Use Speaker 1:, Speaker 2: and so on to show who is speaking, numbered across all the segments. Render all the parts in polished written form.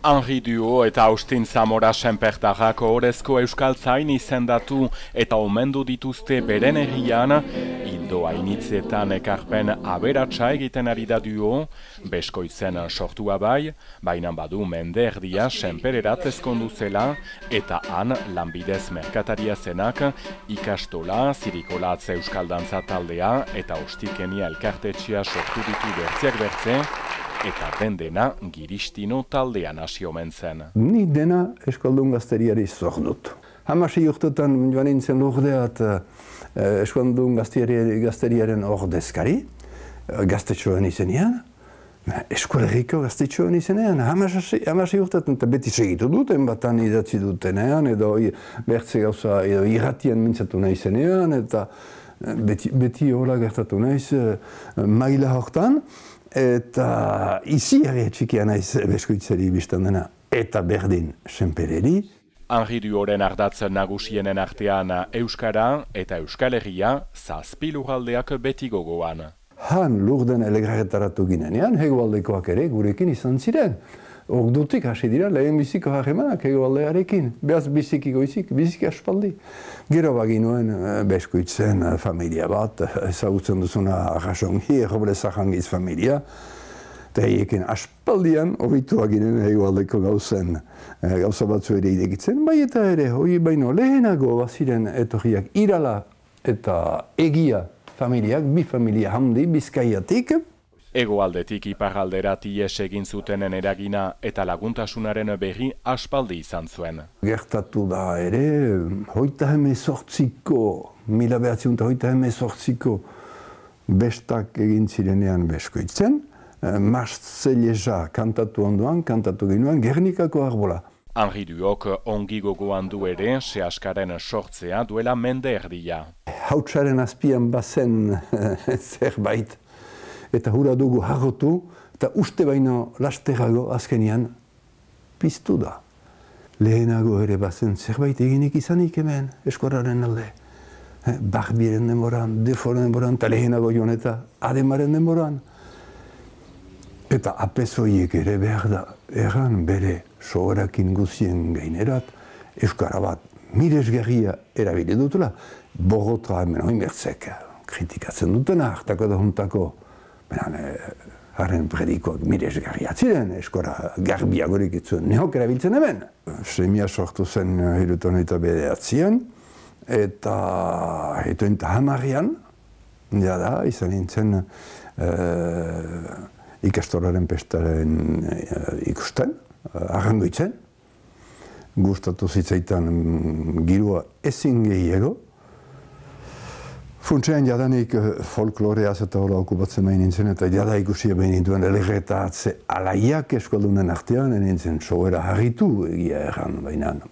Speaker 1: Henri Duo eta Austin Zamora senpertarrak ohorezko euskaltzain izendatu eta omendu dituzte beren herrian, ildo hainitzetan ekarpen aberatsa egiten ari da Duo, Beskoitzen sortua bai, baina badu mende erdia senpererat ezkondu zela, eta han lanbidez merkataria zenak, ikastola, zirikolatz euskaldantza taldea eta ostikenia elkartetxea sortu ditu bertziak bertze, eta dena giristino taldean hasi omen zen.
Speaker 2: Ni dena Euskaldun gazteriari zor dut. 16 urtetan joan nintzen Lourdeat Euskaldun gazteriaren ordezkari, gaztetxoan izenean, eskolerriko gaztetxoan izenean, 16 urtetan, eta beti segitu duten, batan idatzi dutenean, edo bertze gauza, edo irratian mintzatu nahi izenean, eta beti hola gertatu naiz maila hortan, eta izi ere txikia naiz Beskoitzari biztan dena, eta berdin senpereri.
Speaker 1: Henri Duoren ardatz nagusienen artean Euskara eta Euskal Herria 7 lurraldeak beti gogoan.
Speaker 2: Han Lurden elegarretaratu ginenean, hegoaldekoak ere gurekin izan ziren. Ordutik hasi dira lehen biziko harremanak hegoaldearekin. Behaz biziki goizik, biziki aspaldi. Gero baginuen Beskoitzen familia bat, ezagutzen duzuna Arrasongi, Robles-Arrangiz familia. Eta hiekin aspaldian horituak ginen hegoaldeko gauza batzu ere idekitzen. Bai eta ere, hori baino lehenago baziren etorriak Irala eta Egia familiak, bi familia handi Bizkaiatik.
Speaker 1: Hegoaldetik iparralderat ihes egin zutenen eragina eta laguntasunaren berri aspaldi izan zuen.
Speaker 2: Gertatu da ere, 1918ko bestak egin zirenean Beskoitzen, Marselesa kantatu ondoan, kantatu ginoen Gernikako arbola.
Speaker 1: Henri Duok ongi gogoan du ere sehaskaren sortzea duela mende erdia.
Speaker 2: Hautsaren azpian bazen zerbait, eta hura dugu harrotu, eta uste baino lasterago azkenian piztu da. Lehenago ere bazen zerbait eginik izanik hemen eskoraren alde. Barbieren denboran, Deforen denboran, eta lehenago joan eta Ademaren denboran. Eta apezoiek ere behar da, erran bere soberakin guzien gainerat, euskara bat miresgarria erabili dutela, Bogotra hemen oin bertzek kritikatzen dutena, hartako da juntako, haren predikoak miresgarriak ziren, eskora garbiagorik itzuen neok erabiltzen hemen. Semia sortu zen 1979, eta 1910, jada, izan nintzen ikastolaren pestaren ikusten, arrangoitzen. Gustatu zitzaitan girua ezin gehiago. Funtsean jadanik folkloreaz eta hola okupatzen behin nintzen, eta jada ikusia behin nintuen elegetatze alaiak eskaldunen artean, nintzen sobera harritu egia erran behinan.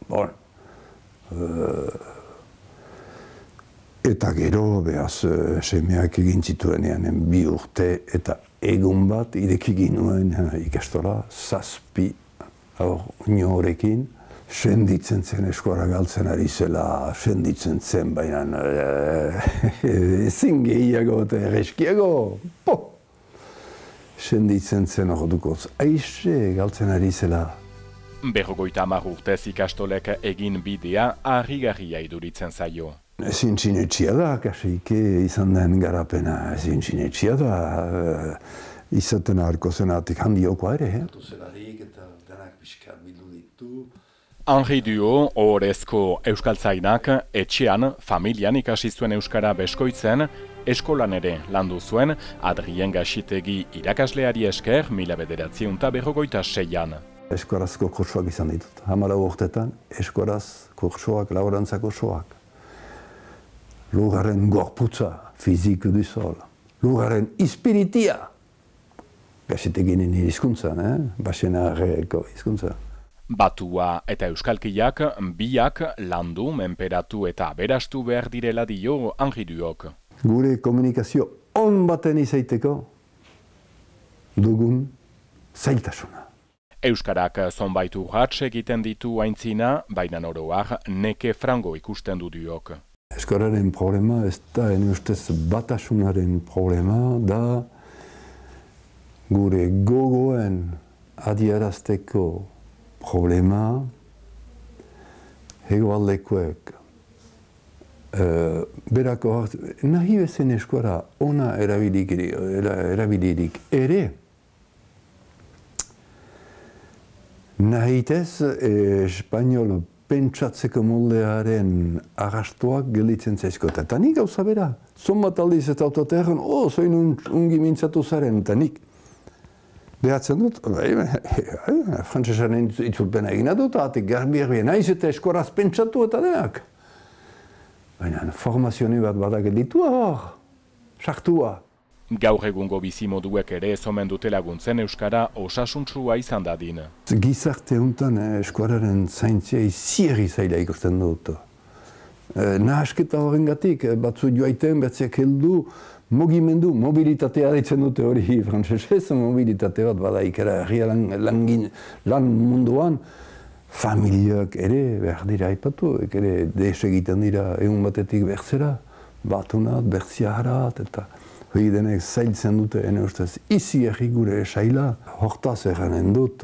Speaker 2: Eta gero, behaz, semeak egin zituenean 2 urte eta egun bat ireki ginuen ikastola, 7 aur horrekin. Senditzen zen eskora galtzen ari zela, senditzen zen, baina ezin gehiago eta erreskiago. Senditzen zen ordukoz, aixe galtzen ari zela.
Speaker 1: 50 urtez ikastolek egin bidea harrigarria iduritzen zaio.
Speaker 2: Ezin sinetxia da, kasike izan den garapena, ezin sinetxia da. Izaten aharko zenatik handiokoa ere.
Speaker 1: Henri Duo, ohorezko euskaltzainak, etxean, familian ikasi zuen euskara Beskoitzen, eskolan ere landu zuen, Adrien Gaxitegi irakasleari esker 1956an.
Speaker 2: Eskorazko kursoak izan ditut. 14 urtetan, eskoraz kursoak, laborantzako soak. Lugaren gorputza, fizik du sol. Lugaren ispiritia. Gaxiteginen hizkuntzan, Baxenarreko hizkuntza.
Speaker 1: Batua eta euskalkiak biak landu, menperatu eta aberastu behar direla dio Henri Duok.
Speaker 2: Gure komunikazio on baten izaiteko dugun zailtasuna.
Speaker 1: Euskarak zonbait urrats egiten ditu aintzina, baina oroak neke frango ikusten du Duok.
Speaker 2: Euskararen problema ez da, ustez batasunaren problema da gure gogoen adierazteko problema, hegoaldekoek, berako nahi bezen eskora ona erabilirik ere, nahitez espainol pentsatzeko moldearen arrastoak gelditzen zaizko. Eta nik gauza bera, zon bat aldiz eta autotearen, zoin ungi mintzatu zaren, eta nik behatzen dut, frantzesaren itzulpena egina dut, atek garbi naiz eta eskoraz pentsatu eta denak. Baina formazioni bat badak editua hor, sartua.
Speaker 1: Gaur egungo bizimoduek ere ez omen dute laguntzen euskara osasuntsua izan dadin.
Speaker 2: Gizarte honetan eskuararen zaintzia izieri zaila ikusten dut. Nahasketa horrengatik, batzu joaiten, batziak heldu, mugimendu, mobilitatea ditzen dute hori frantsesez, mobilitate bat bada ikera herria lan munduan, familiak ere behar dira aipatu, ere des egiten dira egun batetik bertzera, batunat, bertziaharat, eta hori denek zailtzen dute, ene ustez, izi erri gure saila, hortaz eranen dut,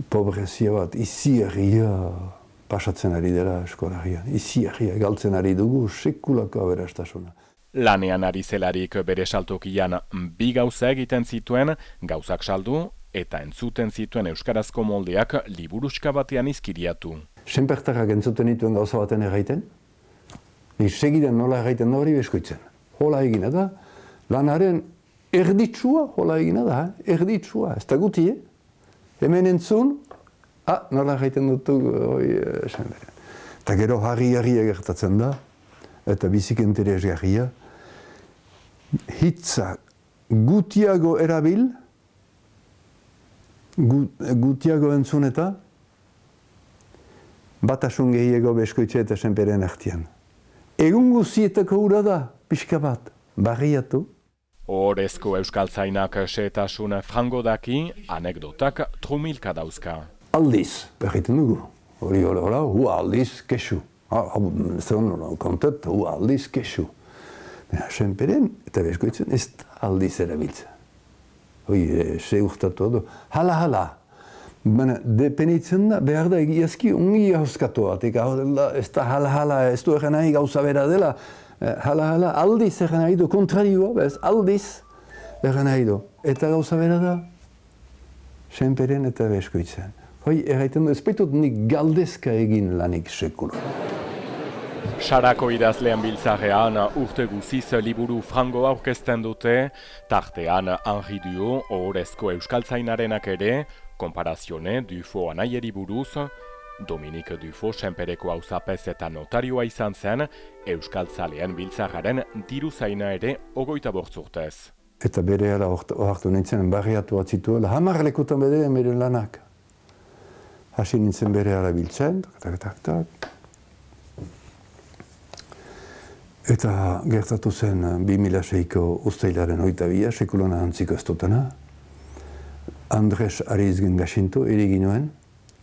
Speaker 2: pobrezia bat, izi erria pasatzen ari dela eskolarian. Izi erria galtzen ari dugu sekulako aberastasuna.
Speaker 1: Lanean ari zelarik bere saltokian bi gauza egiten zituen, gauzak saldu eta entzuten zituen euskarazko moldeak liburuska batean izkiriatu.
Speaker 2: Senpertarrak entzuten dituen gauza baten erraiten, nik segidan nola erraiten da hori beskoitzen. Hola egina da, lanaren erditsua hola egina da, erditsua, ez da guti, hemen entzun, nola erraiten dutu hori senperean. Eta gero harri-harria gertatzen da, eta bizik interesgarria, hitza gutiago erabil, gutiago entzun eta batasun gehiago beskoitze eta senperen artean. Egun guzietako hura da, pixka bat, barriatu.
Speaker 1: Ohorezko euskaltzainak xehetasun frango daki, anekdotak trumilka dauzka.
Speaker 2: Aldiz, berriten dugu. Hori aldiz kesu. Zer kontet, aldiz kesu. Senperen eta beskoitzen ez aldiz erabiltzen. Hoi, se urtatu du. Hala. Baina, depenitzen da, behar da egiazki ungi hauskatu bat. Ez da hala, ez du egen nahi gauza bera dela. Hala, aldiz egen nahi du, kontrarioa, bez, aldiz egen nahi du. Eta gauza bera da, senperen eta beskoitzen. Hoi, erraiten du, ez baitut nik galdezka egin lanik sekula.
Speaker 1: Sarako idazlean biltzarean urte guziz liburu frango aurkezten dute, tartean Henri Duo, ohorezko euskaltzainarenak ere, Konparazione Dufo anaieri buruz, Dominique Dufo senpereko auzapez eta notarioa izan zen, euskaltzalean biltzararen diruzaina ere 25 urtez.
Speaker 2: Eta bere ala ohartu nintzen, barriatu atzituela, 10 lekutan bere lanak. Hasi nintzen bere ala biltzen, tak. Eta gertatu zen 2006ko uztailaren 22, sekulona antziko ez dutena. Andres Arizgen gaxintu, erigin nuen,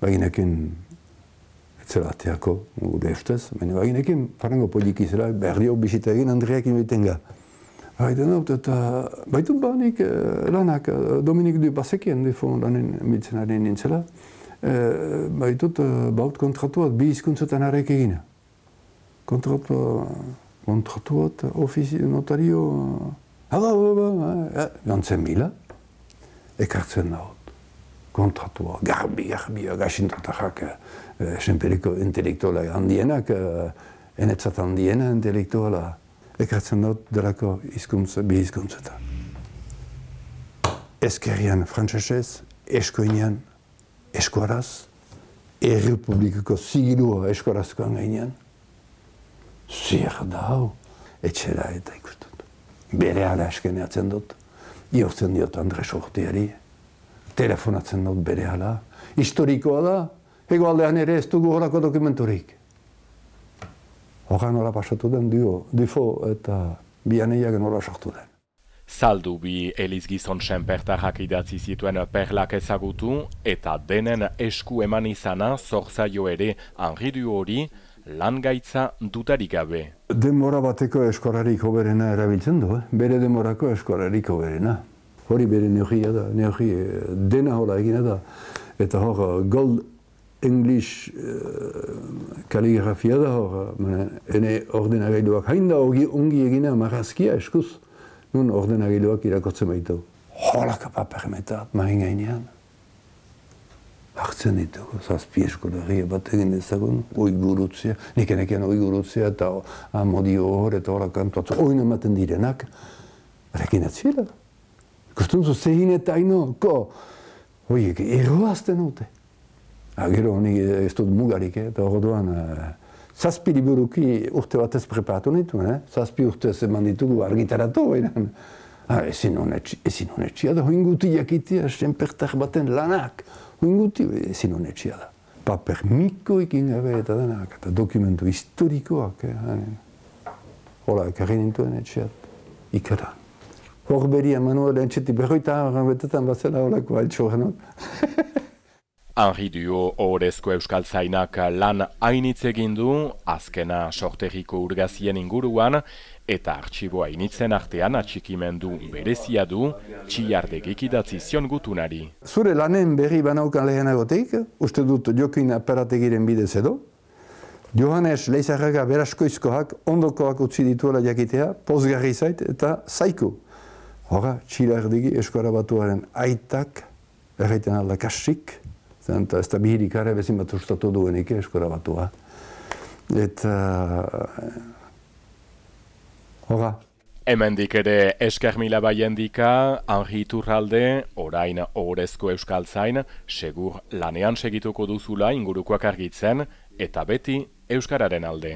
Speaker 2: baginekin etzela ateako, gure ustez, baina baginekin farango polik izela, berdio bisita egin Andreakin bitenga. Baiten dut, eta baitu banik lanak, Dominik du Basekien, defo lanen biltzen ari nintzela, baitut baut kontratuat bi hizkuntzetan harrek egina. Kontratuat, notario, gantzen mila, ekartzen daut. Kontratua, garbi, gaxintatarrak, senperiko intelektuala handienak, enetzat handiena intelektuala, ekartzen daut delako bi hizkuntzetan. Ezkerrian frantsesez, eskoinean, eskuaraz, errepublikako zigilua eskuarazkoan gainean, zer da hau, etxera eta ikustut. Bere ala eskeneatzen dut, iortzen diot Andres Orteari, telefonatzen dut bere ala, historikoa da, hegoaldean ere ez dugu horako dokumenturik. Horra nola pasatu den Dufo eta bianeiak nola sortu den.
Speaker 1: Zaldu bi elizgizon senpertarrak idatzi zituen perlak ezagutu eta denen esku eman izana zorzaio ere Henri Duo hori, lan gaitza dutarik gabe.
Speaker 2: Denbora bateko eskorarik hoberena erabiltzen du, bere denborako eskorarik hoberena. Hori bere neurria da, dena hola egina da. Eta hor, Gold English kaligrafia da hor, ene ordenagailuak hain da ongi egina marrazkia eskuz, nun ordenagailuak irakortzen baitu. Holaka papermetat, mahin gainean. Hartzen ditugu, zazpi eskolegia bat egin dezagun, oigurutzea, nekenekean oigurutzea eta amodio hor eta hola kantuatzu, oin ematen direnak, rekin atziela. Ikustuntzu zehin eta haino, oiek, erroazten dute. Gero, nik ez dut mugarik, eta orduan, zazpi liburuki urte batez preparatu nituen, zazpi urtez eman ditugu argitaratu, bainan. Ezin honetxia da, hoinguti jakitia, senpertar baten lanak. Hoinguti ezin honetxia da. Paper mikoekin gabe eta denak, eta dokumentu historikoak. Hola, ekarri nintuen etxeat, ikaran. Horberia Manuel entxetik berroita betetan bazela holako altxorenok.
Speaker 1: Henri Duo ohorezko euskaltzainak lan hainitz egin du, azkena sorterriko urgazien inguruan, eta artxibo hainitzen artean atxikimendu berezia du, Txillardegik idatzi zion gutunari.
Speaker 2: Zure lanen berri banaukan lehenagotik, uste dut Jokin aparategiren bidez edo, Johannes Leizarraga beraskoizkoak ondokoak utzi dituela jakitea, pozgarri zait eta zaiko. Hora, Txillardegi Eskara Batuaren aitak, erraiten alda kasik, eta ez da bihirik are bezin bat ustatu duenik Eskara Batua. Eta hora.
Speaker 1: Hemendik ere esker mila baiendika, Henri Iturralde, orain ohorezko euskaltzain, segur lanean segituko duzula ingurukoak argitzen, eta beti euskararen alde.